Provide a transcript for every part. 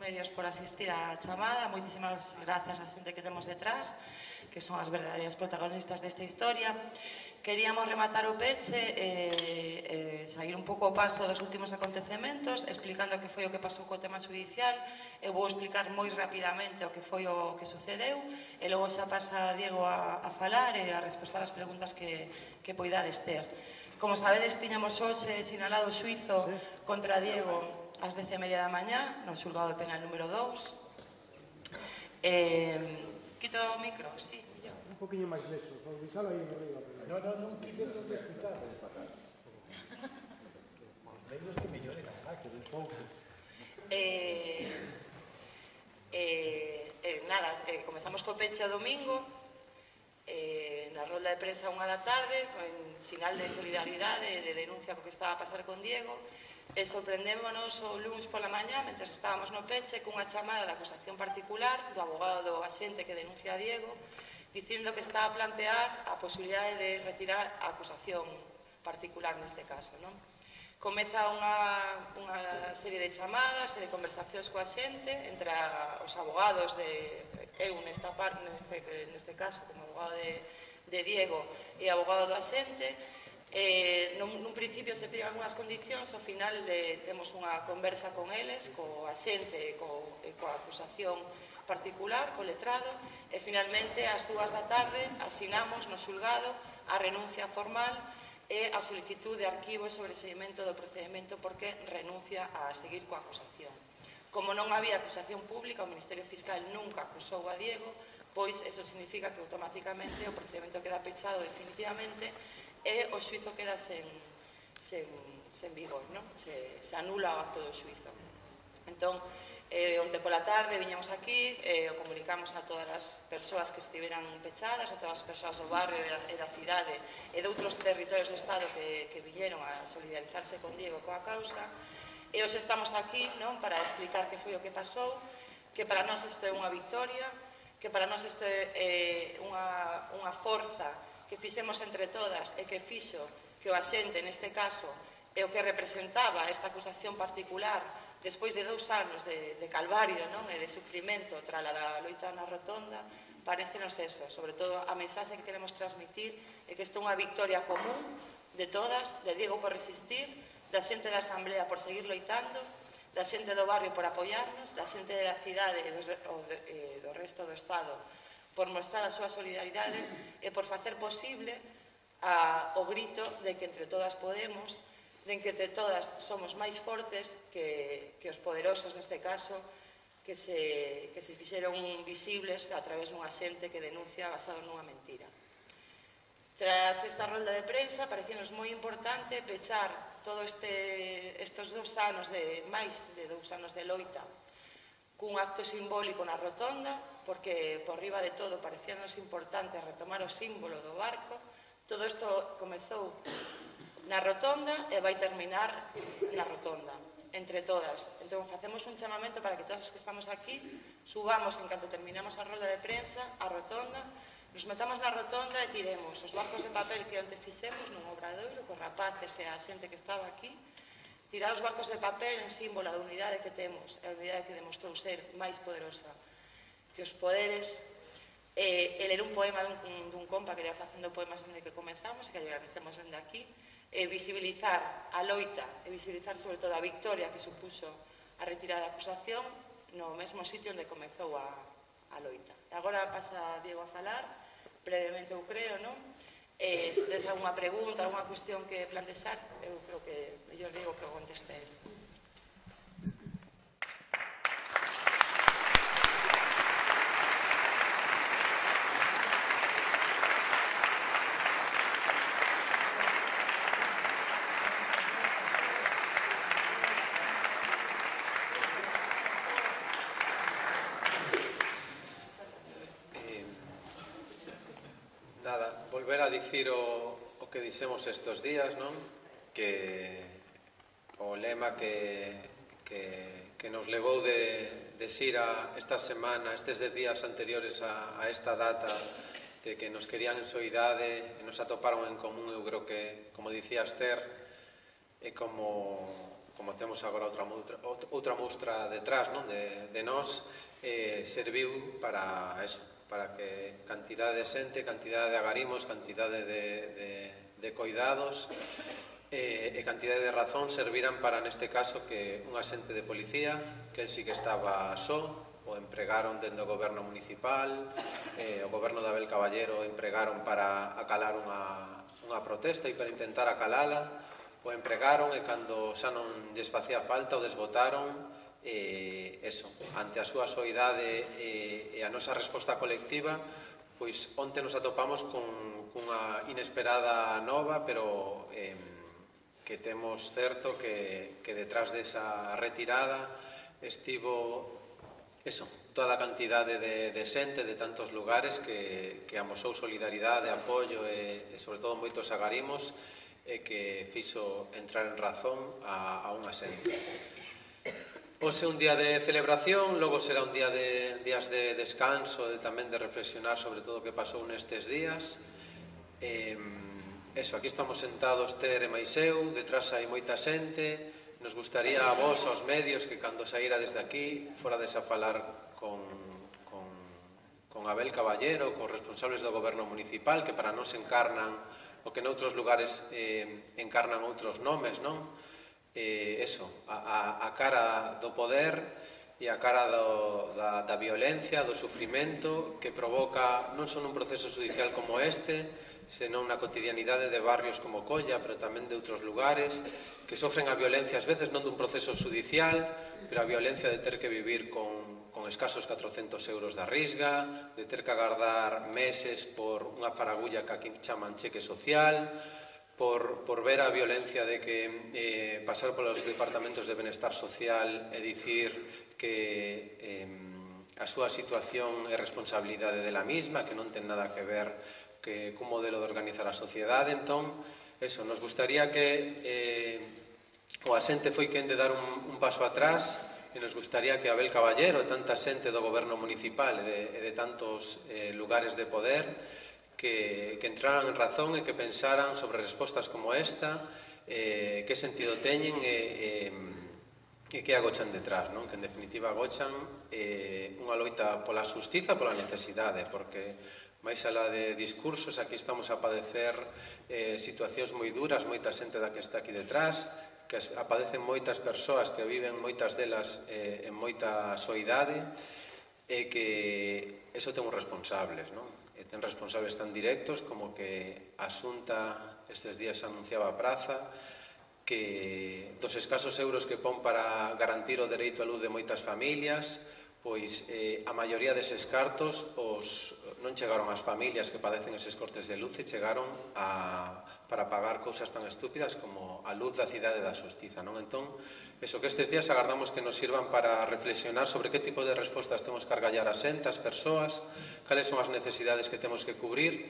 medios por asistir á chamada. Moitísimas grazas á xente que temos detrás, que son as verdadeiras protagonistas desta historia. Queríamos rematar o peche e sair un pouco ao paso dos últimos acontecementos, explicando que foi o que pasou co tema judicial. Eu vou explicar moi rapidamente o que foi o que sucedeu e logo xa pasa Diego a falar e a responder as preguntas que poidades ter. Como sabedes, tiñamos hoxe sinalado o xuizo contra Diego ás 10:30 da mañá no xulgado de penal número 2. Quito o micro, sí. Un poquinho máis leso, só deixalo aí arriba. Non quites o que explicar. Menos que mellore a que un pouco. Nada, comezamos co peche o domingo, na rolda de prensa 1 da tarde, con sinal de solidaridade e de denuncia co que estaba a pasar con Diego, e sorprendémonos o luns pola mañá, mentre estábamos no peche, cunha chamada de acusación particular do abogado do axente que denuncia a Diego, dicindo que está a plantear a posibilidade de retirar a acusación particular neste caso, non? Comeza unha serie de chamadas e de conversacións coa xente entre os abogados de eu neste caso como abogado de Diego e abogado do axente. Nun principio se piden algunhas condicións, ao final temos unha conversa con eles, co axente e coa acusación particular, co letrado, e finalmente ás 2 da tarde asinamos no xulgado a renuncia formal e a solicitud de arquivo e sobreseguimento do procedimento porque renuncia a seguir coa acusación. Como non había acusación pública, o Ministerio Fiscal nunca acusou a Diego, pois eso significa que automáticamente o procedimento queda pechado definitivamente e o xuizo queda sen vigor, non? Se anula o acto do xuizo. Entón, onde pola tarde viñamos aquí, o comunicamos a todas as persoas que estiveran pechadas, a todas as persoas do barrio e da cidade e de outros territorios do Estado que viñeron a solidarizarse con Diego coa causa. E hoxe estamos aquí para explicar que foi o que pasou, que para nós isto é unha victoria, que para nós isto é unha forza que fixemos entre todas e que fixo que o axente, neste caso, é o que representaba esta acusación particular despois de 2 anos de calvario e de sufrimento tras a loita na rotonda. Parecenos eso, sobre todo a mensaxe que queremos transmitir é que isto é unha victoria común de todas, de Diego por resistir, da xente da Asamblea por seguir loitando, da xente do barrio por apoiarnos, da xente da cidade e do resto do Estado por mostrar a súa solidaridade e por facer posible o grito de que entre todas podemos, de que entre todas somos máis fortes que os poderosos neste caso, que se fixeron visibles a través dunha xente que denuncia basado nunha mentira. Tras esta rolda de prensa, parecíanos moi importante pechar todos estes 2 anos máis de 2 anos de loita cun acto simbólico na rotonda, porque por riba de todo parecíanos importante retomar o símbolo do barco. Todo isto comezou na rotonda e vai terminar na rotonda, entre todas. Entón, facemos un chamamento para que todos os que estamos aquí subamos, en canto terminamos a rolda de prensa, a rotonda, nos metamos na rotonda e tiremos os barcos de papel que onte fixemos nun obradoiro, cos rapaces e a xente que estaba aquí, tirar os barcos de papel en símbolo da unidade que temos, a unidade que demostrou ser máis poderosa que os poderes, e ler un poema dun compa que iba facendo poemas desde que comezamos, que lle agradecemos desde aquí, e visibilizar a loita, e visibilizar sobre todo a victoria que supuso a retirada da acusación no mesmo sitio onde comezou a loita. E agora pasa Diego a falar, brevemente eu creo, non? Se tens alguna pregunta, alguna cuestión que plantexar, eu creo que mellor digo que o conteste el. Volver a dicir o que dixemos estes días, non? Que o lema que nos levou de xira esta semana, estes días anteriores a esta data, de que nos querían en soidade e nos atoparon en común, eu creo que, como dicía Esther, e como como temos agora outra mostra detrás, non? De nós, serviu para eso, para que cantidade de xente, cantidade de agarimos, cantidade de coidados e cantidade de razón serviran para, neste caso, que un axente de policía, que el sí que estaba só, o empregaron dentro do goberno municipal, o goberno de Abel Caballero empregaron para acalar unha protesta e para intentar acalala, o empregaron e cando xa non lles facía falta o desbotaron, eso, ante a súa soidade e a nosa resposta colectiva, pois onte nos atopamos cunha inesperada nova, pero que temos certo que detrás desa retirada estivo eso, toda a cantidade de xente de tantos lugares que amosou solidaridade, apoio e sobre todo moitos agarimos e que fixo entrar en razón a unha xente. Hoxe é un día de celebración, logo será un día de días de descanso e tamén de reflexionar sobre todo o que pasou nestes días. Eso, aquí estamos sentados Ter e máis eu, detrás hai moita xente. Nos gustaría a vos, aos medios, que cando saíra desde aquí forades a falar con Abel Caballero, con responsables do goberno municipal, que para nós encarnan o que noutros lugares encarnan outros nomes, non? Eso, a cara do poder e a cara da violencia, do sufrimento que provoca non só un proceso judicial como este, senón na cotidianidade de barrios como Colla, pero tamén de outros lugares, que sofren a violencia, ás veces non dun proceso judicial, pero a violencia de ter que vivir con escasos 400 euros da risga, de ter que agardar meses por unha faragulla que aquí chaman cheque social, por ver a violencia de que pasar polos departamentos de benestar social e dicir que a súa situación é responsabilidade dela mesma, que non ten nada que ver cun modelo de organizar a sociedade. Entón, eso, nos gustaría que o asente foi quen de dar un paso atrás e nos gustaría que Abel Caballero e tanta xente do goberno municipal e de tantos lugares de poder que entraran en razón e que pensaran sobre respostas como esta, que sentido teñen e que agochan detrás, non? Que en definitiva agochan unha loita pola xustiza, pola necesidade, porque máis alá de discursos, aquí estamos a padecer situacións moi duras, moita xente da que está aquí detrás, que apadecen moitas persoas que viven moitas delas en moita soidade e que eso ten uns responsables, non? E ten responsables tan directos como que a Xunta estes días anunciaba a praza que dos escasos euros que pon para garantir o dereito á luz de moitas familias, pois a maioría deses cartos non chegaron ás familias que padecen eses cortes de luz e chegaron para pagar cousas tan estúpidas como a luz da cidade da xustiza, non? Entón, eso que estes días agardamos que nos sirvan para reflexionar sobre que tipo de respostas temos que argallar a xente, as persoas, cales son as necesidades que temos que cubrir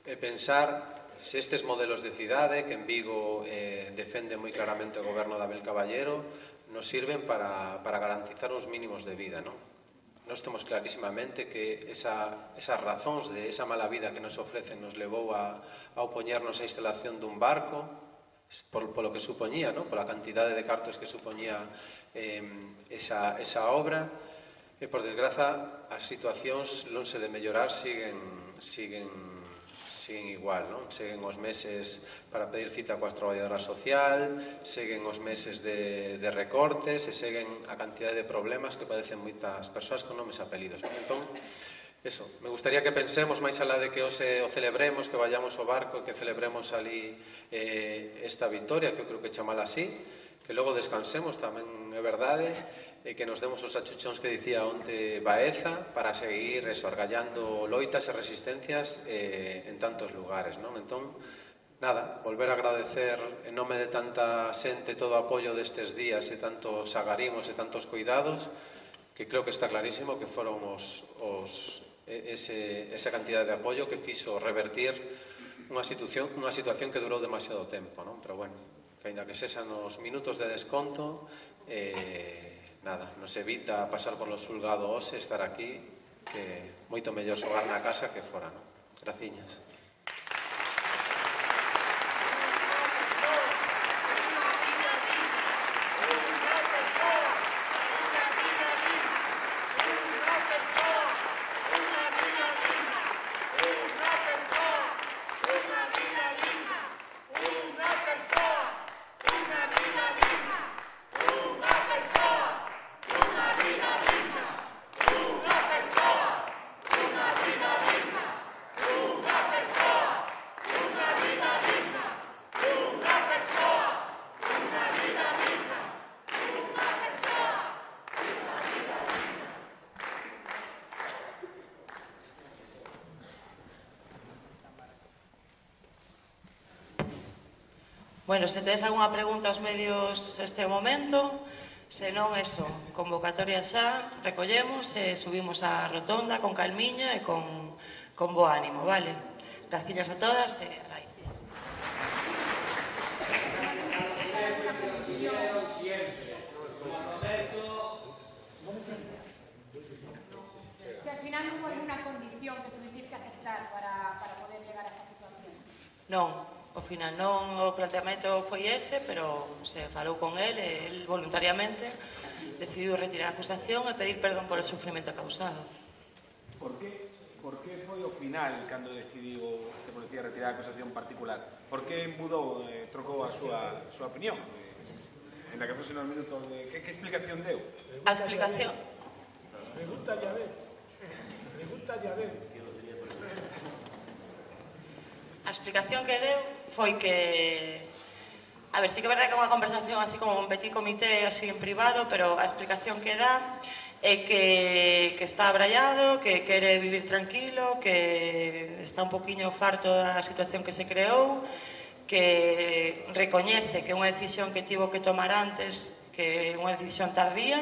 e pensar se estes modelos de cidade que en Vigo defende moi claramente o goberno de Abel Caballero nos sirven para garantizar os mínimos de vida, non? Nós temos clarísimamente que esas razóns de esa mala vida que nos ofrecen nos levou a opoñernos á instalación dun barco polo que supoñía, non? Pola cantidade de cartos que supoñía esa obra e, por desgraza, as situacións lonxe de mellorar siguen igual, non? Seguen os meses para pedir cita coa traballadora social, seguen os meses de recortes e seguen a cantidade de problemas que padecen moitas persoas con nomes e apelidos. Entón, eso, me gustaría que pensemos máis alá de que hoxe o celebremos, que vayamos ao barco e que celebremos ali esta victoria, que eu creo que chamala así, que logo descansemos, tamén é verdade, e que nos demos os achuchóns que dicía onte Baeza para seguir argallando loitas e resistencias en tantos lugares, non? Entón, nada, volver a agradecer en nome de tanta xente todo o apoio destes días e tantos agarimos e tantos cuidados, que creo que está clarísimo que foron esa cantidad de apoio que fixo revertir unha situación que durou demasiado tempo, non? Pero bueno, que ainda que sexan os minutos de desconto, nada, nos evita pasar por lo xulgado hoxe, estar aquí, que moito mellor xogar na casa que fora, non? Graciñas. Bueno, se tedes algunha pregunta aos medios este momento, se non, eso, convocatoria xa, recollemos e subimos á rotonda con calmiña e con bo ánimo, vale? Gracias a todas e alai. Si al final non hubo alguna condición que tuvisteis que aceptar para poder llegar a esta situación. Non, ao final non, o planteamento foi ese, pero se falou con el e el voluntariamente decidiu retirar a acusación e pedir perdón por o sufrimento causado. Por que foi ao final cando decidiu este policía retirar a acusación particular? Por que mudou, trocou a súa opinión? En la que fose nos minutos de... Que explicación deu? A explicación... Pregúntalle a ver. A explicación que deu foi que... A ver, sí que é verdade que é unha conversación así como un petit comité así en privado, pero a explicación que dá é que está abraiado, que quere vivir tranquilo, que está un poquinho farto da situación que se creou, que recoñece que é unha decisión que tivo que tomar antes, que é unha decisión tardía,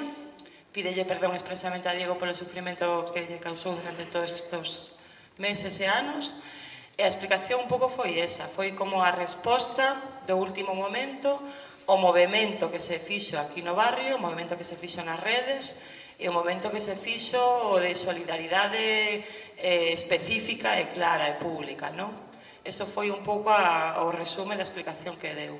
pídelle perdón expresamente a Diego polo sufrimento que lle causou durante todos estes meses e anos, e a explicación un pouco foi esa, foi como a resposta do último momento, o movimento que se fixo aquí no barrio, o movimento que se fixo nas redes, e o momento que se fixo o de solidaridade específica e clara e pública, non? Eso foi un pouco o resume da explicación que deu.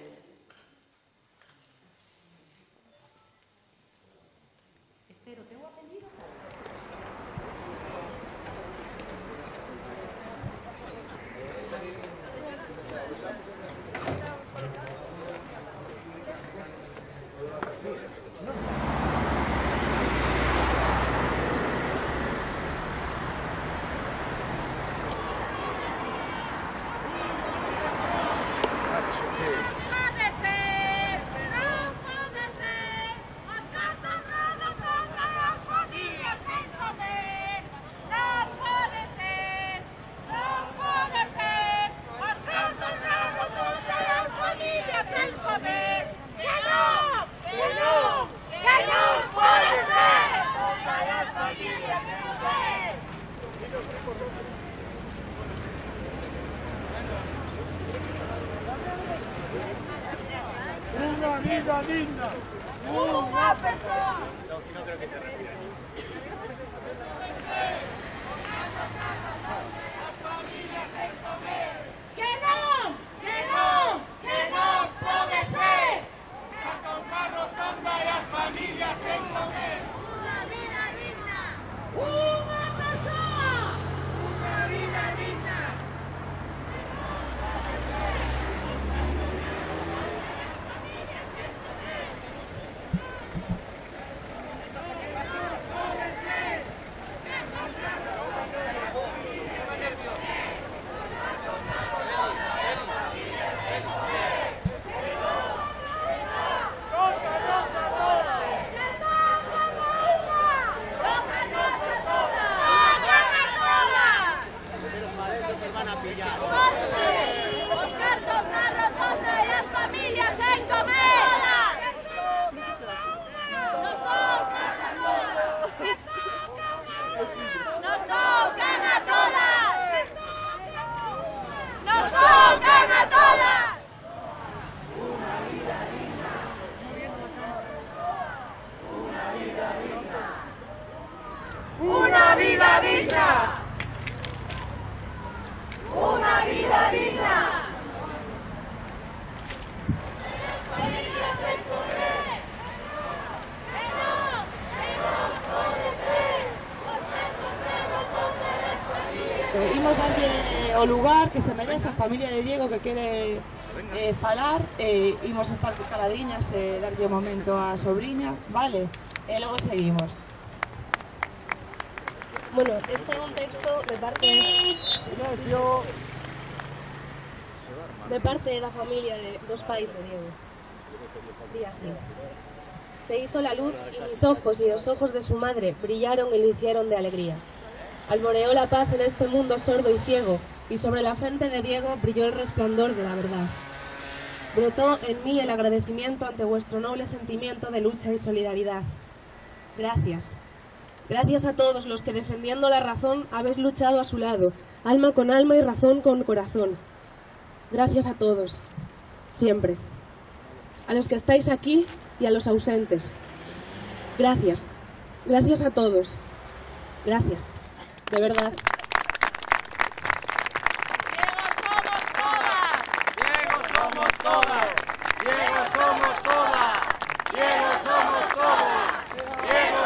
Una vida digna. Una persona. No creo que te refieras. Una vida digna. Una vida digna. Imos darlle o lugar que se merece a familia de Diego que quere falar, imos estar caladiñas e darlle o momento á sobriña, vale? E logo seguimos. Bueno, este é un texto de parte da familia dos pais de Diego. Di así: se hizo la luz y mis ojos y los ojos de su madre brillaron y lo hicieron de alegría. Alboreó la paz en este mundo sordo y ciego, y sobre la frente de Diego brilló el resplandor de la verdad. brotó en mí el agradecimiento ante vuestro noble sentimiento de lucha y solidaridad. Gracias. Gracias a todos los que defendiendo la razón habéis luchado a su lado, alma con alma y razón con corazón. Gracias a todos, siempre. A los que estáis aquí y a los ausentes. Gracias. Gracias a todos. Gracias. De verdad.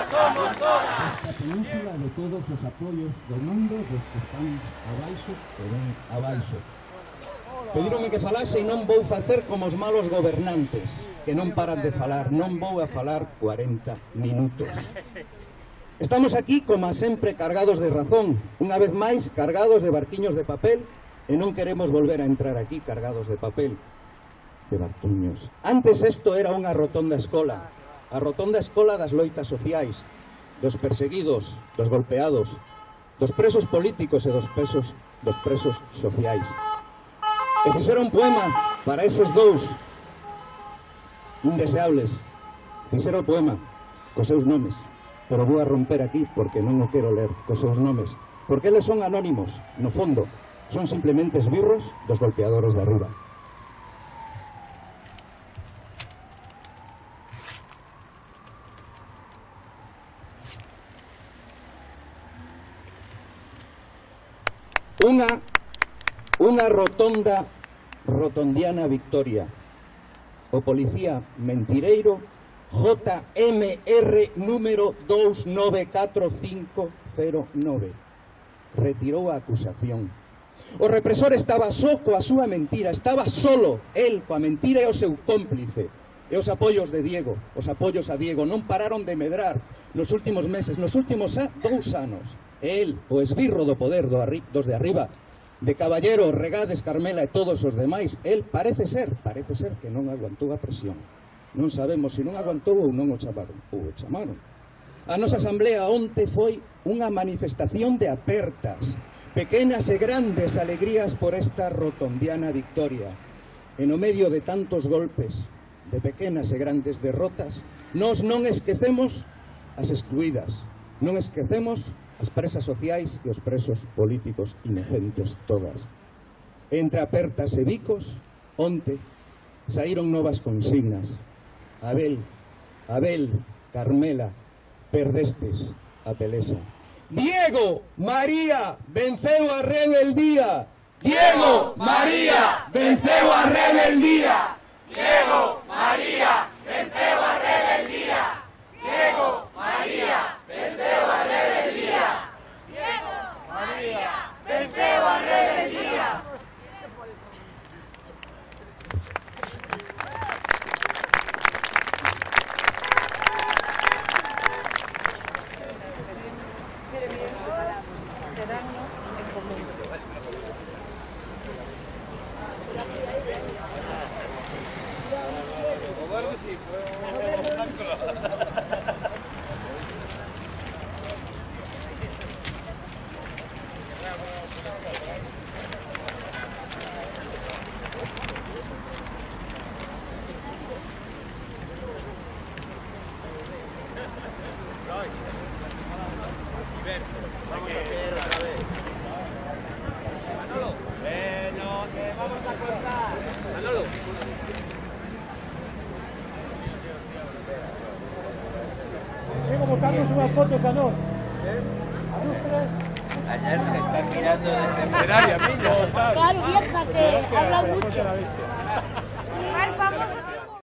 A península de todos os apoios do mundo dos que están abaixo e ben abaixo. Pedíronme que falase e non vou facer como os malos gobernantes, que non paran de falar, non vou a falar 40 minutos. Estamos aquí, como sempre, cargados de razón, unha vez máis cargados de barquiños de papel, e non queremos volver a entrar aquí cargados de papel, de barquiños. Antes isto era unha rotonda escola, a rotonda escola das loitas sociais, dos perseguidos, dos golpeados, dos presos políticos e dos presos sociais. E fixeron un poema para eses dous indeseables. Fixeron o poema cos seus nomes, pero vou a romper aquí porque non o quero ler cos seus nomes, porque eles son anónimos, no fondo, son simplemente esbirros dos golpeadores de arriba. Unha rotondiana victoria. O policía mentireiro JMR número 294509 retirou a acusación. O represor estaba só coa súa mentira, estaba solo, el coa mentira e o seu cómplice. E os apoios de Diego, os apoios a Diego non pararon de medrar nos últimos meses, nos últimos 2 anos. E el, o esbirro do poder dos de arriba, de Caballero, Regades, Carmela e todos os demais, el parece ser que non aguantou a presión. Non sabemos se non aguantou ou non o chamaron. A nosa asamblea onte foi unha manifestación de apertas, pequenas e grandes alegrías por esta rotondiana victoria. E no medio de tantos golpes, de pequenas e grandes derrotas, nós non esquecemos as excluídas, non esquecemos as presas sociais e os presos políticos inocentes todas. Entre apertas e bicos, onte, saíron novas consignas. Abel, Carmela, perdestes a pelesa. Diego María venceu a rebeldía. Diego María venceu a rebeldía. Diego María venceu a rebeldía. Diego María venceu a rebeldía. Diego María venceu a rebeldía. Quedarnos en común. Sigo botarnos unas fotos a nos. A nos tres. Ayer me están mirando desde Peraria, Claro, Claro, vieja, que habla mucho. La bestia. Más famoso que